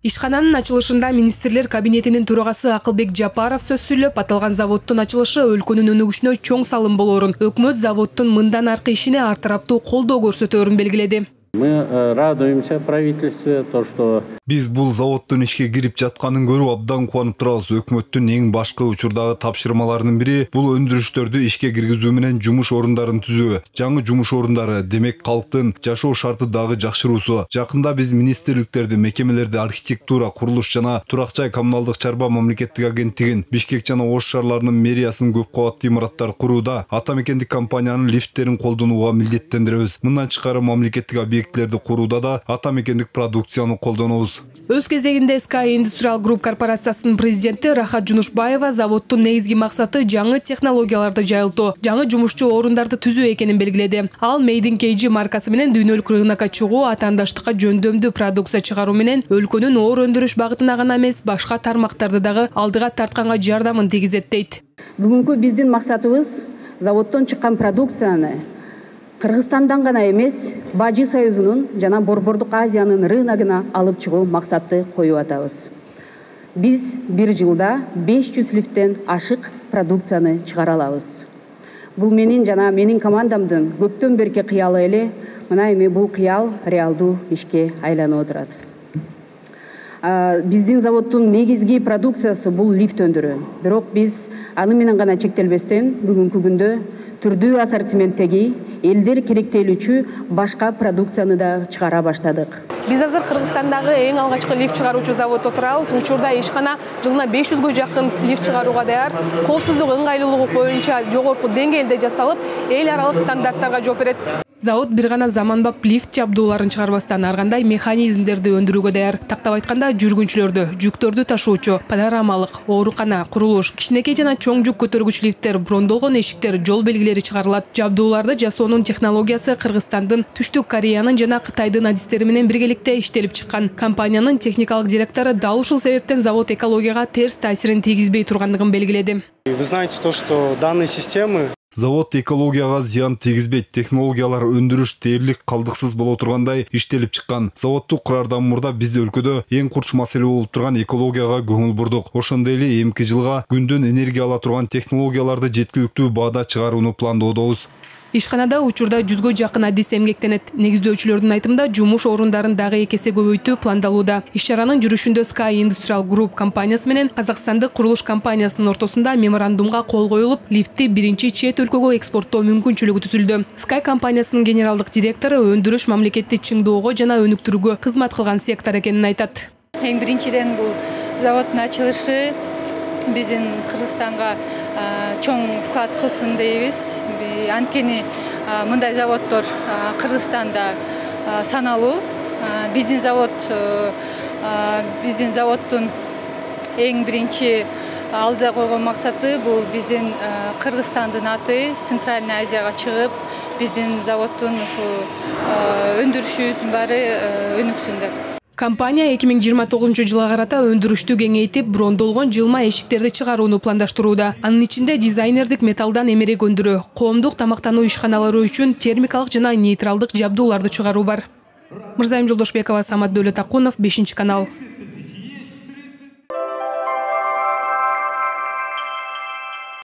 Ишкананын ачылышында министрлер кабинетинин төрагасы Акылбек Жапаров сөз сүйлөп, аталган заводдун ачылышы өлкөнүн өнүгүшүнө чоң салым болоорун, өкмөт заводдун мындан аркы ишине ар тараптуу колдоо көрсөтөөрүн белгиледи. Мы радуемся правительству, то, что биз бул заводдун ишке кирип жатканын көрүп абдан кубанып турабыз. Өкмөттүн эң башкы учурдагы тапшырмаларынын бири бул өндүрүштөрдү ишке киргизүү менен жумуш орундарын түзүү. Жаңы жумуш орундары, демек калктын жашоо шарты дагы жакшыруусу. Жакында биз министрликтерди, мекемелерди, архитектура, курулуш жана турак жай коммуналдык чарба мамлекеттик агенттигин, Бишкек жана Ош шаарларынын мэриясын көп кабаттуу имараттар курууда ата мекендик компаниянын лифттерин колдонууга милдеттендиребиз. Мындан тышкары мамлекеттик объектилерди курууда да ата мекендик продукцияны колдонобуз. Өз кезегинде Sky Industrial Group корпорациясынын президенти Рахат Жунушбаева заводдун негизги максаты жаңы технологияларды жайылтуу, жаңы жумушчу орундарды түзүү экенин белгиледи. Ал Made in KG маркасы менен дүйнөлүк рынокко чыгуу, атаандаштыкка жөндөмдүү продукция чыгаруу менен өлкөнүн оор өндүрүш багытына гана эмес, башка тармактарды дагы алдыга тартканга жардамын тийгизет дейт. Бүгүнкү биздин максатыбыз заводдон чыккан продукцияны Кыргызстандан гана эмес, Бажы союзунун жана Борбордук Азиянын рыногуна алып чыгуу максатты коюп атабыз. Биз бир жылда 500 лифттен ашык продукцияны чыгара алабыз. Бул менин жана менин командамдын көптөн берки кыялы эле, мына эми бул кыял реалдуу ишке айланып отурат. Биздин заводдун негизги продукциясы бул лифт өндүрүү. Бирок биз аны менен гана чектелбестен бүгүнкү күндө түрдүү ассортименттеги элдер керектелүүчү башка продукцияны да чыгара баштадык. Биз азыр Кыргызстандагы эң алгачкы лифт чыгаруучу заводдо турабыз. Учурда ишкана жылына 500гө жакын лифт чыгарууга даяр. Коопсуздук ыңгайлуулугу боюнча жогорку деңгээлде жасалып, эл аралык стандарттарга жооп берет. Завод бир гана заманбап лифт жабдууларын чыгарбастан ар кандай механизмдерди өндүрүүгө даяр. Тактап айтканда, жүргүнчүлөрдү, жүктөрдү ташуучу, панорамалык, оорукана, курулуш, кичинекей жана чоң жүк көтөргүч лифттер, брондолгон эшиктер, жол белгилери чыгарылат. Жабдууларды жасоонун технологиясы Кыргызстандын, Түштүк Кореянын жана Кытайдын адистери менен биргеликте иштелип чыккан. Компаниянын техникалык директору дал ушул себептен завод экологияга терс таасирин тийгизбей тургандыгын белгиледи. Вы знаете то, что данные системы завод экологияга зыян тийгизбейт, технологиялар өндүрүш дээрлик калдыксыз боло тургандай иштелип чыккан. Заводду курардан мурда бизде өлкөдө эң курч маселе болуп турган экологияга көңүл бурдук. Ошондой эле эмки жылга күндөн энергия ала турган технологияларды жеткиликтүү баада чыгарууну пландоодобуз. Ишканада учурда 100гө жакын адис эмгектенет. Негиздөөчүлөрдүн айтымында жумуш орундарын дагы эке эсе көбөйтүү пландалууда. Иш-чаранын жүрүшүндө Sky Industrial Group компаниясы менен Казакстандык курулуш компаниясынын ортосунда меморандумга кол коюлуп, лифтти биринчи чет өлкөгө экспорттоо мүмкүнчүлүгү түзүлдү. Sky компаниясынын генералдык директору өндүрүш мамлекетти чыңдоого жана өнүктүрүүгө кызмат кылган сектор экенин айтат. Эң биринчиден бул заводдун ачылышы биздин Кыргызстанга чоң вклад кылсын дейбиз. Анткени мындай заводдор Кыргызстанда саналуу. Биздин заводдун эң биринчи алдыда койгон максаты бул биздин Кыргызстандын аты Центральный Азияга чыгып, биздин заводдун өндүрүшүбүздүн баары өнүксүн деп. Компания 2029 карата өндүрүштү кеңейтип, брондолгон жылма эшиктерди чыгарууну пландаштырууда. Анын ичинде дизайнердик металлдан эмерек өндүрүү, коомдук тамактануу ишканалары үчүн термикалык жана нейтралдык жабдууларды чыгаруу бар. Мырзайым Жолдошбекова, Самат Дөөлөтакунов, 5 канал.